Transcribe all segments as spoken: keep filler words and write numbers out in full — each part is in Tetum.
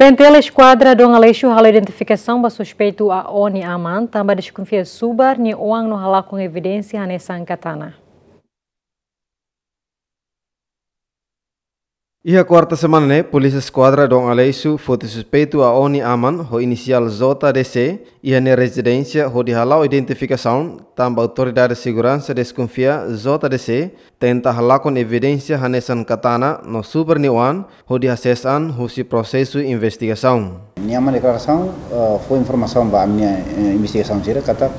T N T L Eskuadra Dom Aleixo halo identifikasaun ba suspeitu A O nia aman, tanba deskonfia subar nia oan no halakon evidénsia hanesan katana. Iha kuarta semana ne'e, Polísia Eskuadra Dom Aleixo foti suspeitu A O nia aman ho inisiál J D C iha nia rezidénsia hodi hala'o identifikasaun, tanba autoridade seguransa deskonfia J D C tenta halakon evidénsia hanesan katana no subar nia oan hodi hasees an husi prosesu investigasaun. Nia aman deklarasaun, eh, fó informasaun ba ami-nia, eh, investigasaun sira katak,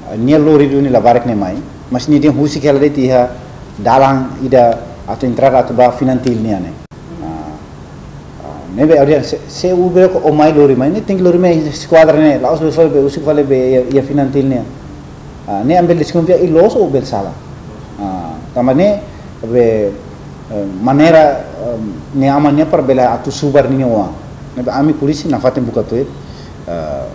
eh, nia lori duni labarik ne'e mai, mas nia dehan husik hela de'it iha dalan ida atu entrada atu ba Finantil nian ne'e. Ah, ah, ne'ebé ha'u dehan se, se o bele ko o mai lori mai, ne'e tenke lori mai eskuadra ne'e, la'ós bele fali be, husik fali be iha, iha Finantil nian. Ah, ne'e ami bele deskonfia i loos ou bele sala. Ah, tanba ne'e be, eh, maneira, eh, nia aman nian para bele atu subar nia oan. Ne'ebé ami polísia nafatin buka tuir, eh,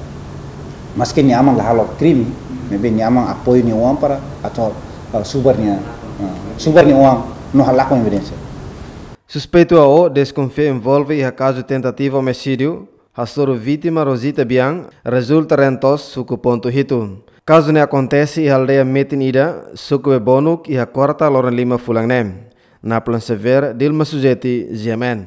maske nia aman la halo krime, ne'ebé nia aman apoiu nia oan para atu, eh, subar nia, eh, subar nia oan no halakon evidénsia. Suspeitu A O deskonfia envolve iha kazu tentativa omisídiu, hasoru vítima Rosita Biang, rezulta reen to'os suku pontu hitu. Kazu ne'e akontese iha aldeia metin ida, suku Bebonuk, iha kuarta loron lima fulan ne'e. Naplan Xavier, Dilma Suzeti, G M N.